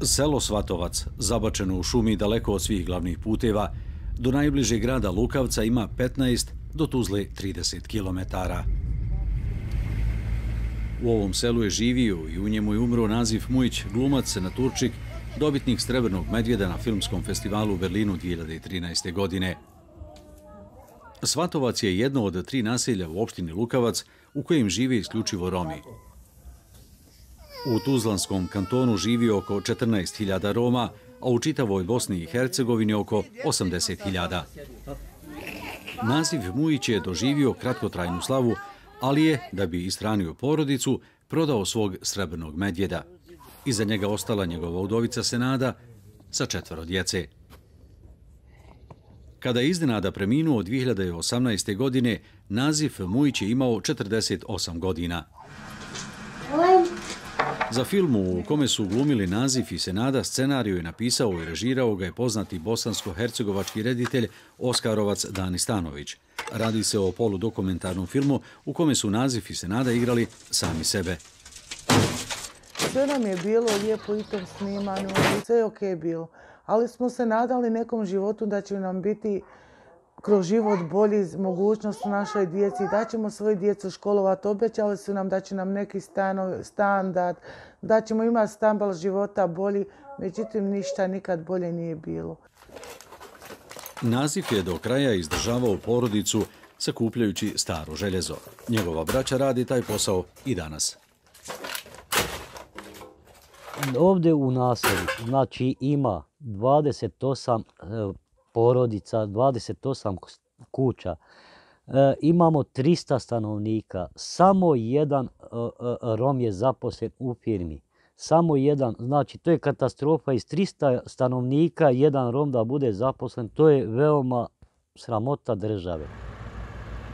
Selo Svatovac, zabačeno u šumi daleko od svih glavnih puteva, do najbližeg grada Lukavca ima 15, do Tuzle 30 kilometara. U ovom selu je živio i u njemu je umro Nazif Mujić, glumac, senatorčik, dobitnik Srebrnog medvjeda na filmskom festivalu u Berlinu 2013. godine. Svatovac je jedno od 3 naselja u opštini Lukavac u kojem žive isključivo Romi. U Tuzlanskom kantonu živi oko 14.000 Roma, a u čitavoj Bosni i Hercegovini oko 80.000. Nazif Mujić je doživio kratkotrajnu slavu, ali je, da bi ishranio porodicu, prodao svog Srebrnog medvjeda. Iza njega ostala njegova udovica Senada sa 4 djece. Kada je iznenada preminuo 2018. godine, Nazif Mujić je imao 48 godina. Za film u kome su glumili Nazif i Senada, scenariju je napisao i režirao ga je poznati bosansko-hercegovački reditelj Oskarovac Dani Stanović. Radi se o poludokumentarnom filmu u kome su Nazif i Senada igrali sami sebe. Sve nam je bilo lijepo i tom snimanju, sve je okej bilo. Ali smo se nadali nekom životu da će nam biti kroz život bolji, mogućnost našoj djeci, da ćemo svoju djecu školovati. Obećali su nam da će nam neki standard, da ćemo imati standard života bolji, međutim ništa nikad bolje nije bilo. Nazif je do kraja izdržavao porodicu sakupljajući staro željezo. Njegova braća radi taj posao i danas. Ovdje u naselju, znači ima 28 porodica, 28 kuća. Imamo 300 stanovnika. Samo jedan Rom je zaposlen u firmi. Samo jedan, znači to je katastrofa, iz 300 stanovnika jedan Rom da bude zaposlen, to je veoma sramota države.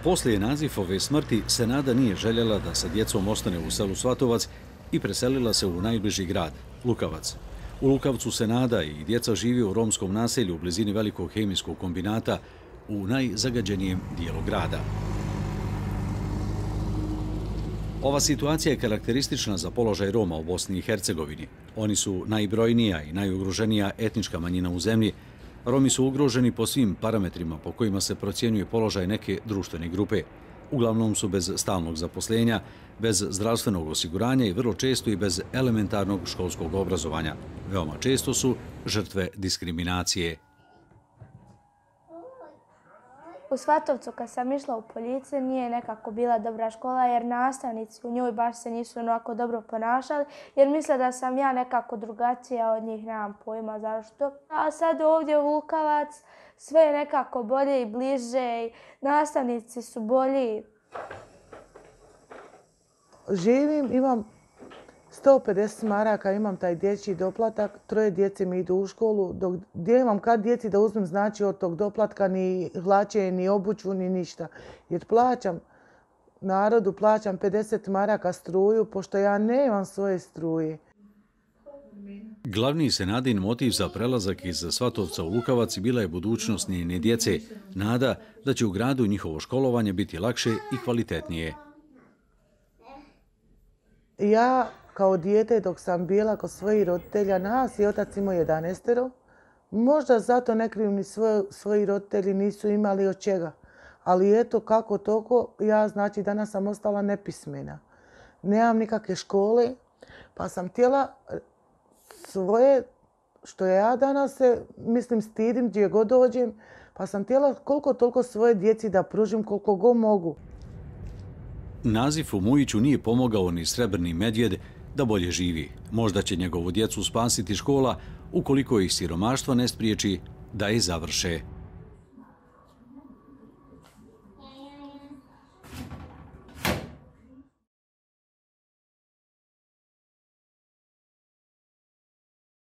Poslije Nazifove smrti Senada nije željela da sa djecom ostane u selu Svatovac i preselila se u najbliži grad, Lukavac. U Lukavcu Senada i djeca živi u romskom naselju u blizini velikog hemijskog kombinata u najzagađenijem dijelu grada. Ova situacija je karakteristična za položaj Roma u Bosni i Hercegovini. Oni su najbrojnija i najugroženija etnička manjina u zemlji. Romi su ugroženi po svim parametrima po kojima se procjenjuje položaj neke društvene grupe. Uglavnom su bez stalnog zaposlenja, bez zdravstvenog osiguranja i vrlo često i bez elementarnog školskog obrazovanja. Veoma često su žrtve diskriminacije. U Svatovcu kad sam išla u Poljice nije nekako bila dobra škola jer nastavnici u njoj baš se nisu onako dobro ponašali jer misle da sam ja nekako drugačija od njih, nemam pojma zašto. A sad ovdje u Lukavac sve je nekako bolje i bliže, nastavnici su bolji. Živim, imam 150 maraka, imam taj dječji doplatak, 3 djece mi idu u školu, dok gdje imam kad djeci da uzmem, znači od tog doplatka ni hlače, ni obuću, ni ništa. Jer plaćam narodu, plaćam 50 maraka struju, pošto ja nemam svoje struje. Glavni Senadin motiv za prelazak iz Svatovca u Lukavac bila je budućnost njene djece, nada da će u gradu njihovo školovanje biti lakše i kvalitetnije. Ja kao dijete dok sam bila kod svojih roditelja, nas i otac imao 11. Možda zato ne krivim ni svoji roditelji nisu imali od čega. Ali eto kako toliko, ja znači danas sam ostala nepismena. Nemam nikakve škole, pa sam htjela svoje, što ja danas se, mislim, stidim gdje god dođem, pa sam htjela koliko toliko svoje djeci da pružim koliko god mogu. Nazifu Mujiću nije pomogao ni Srebrni medvjed da bolje živi. Možda će njegovu djecu spasiti škola ukoliko ih siromaštvo ne spriječi da je završe.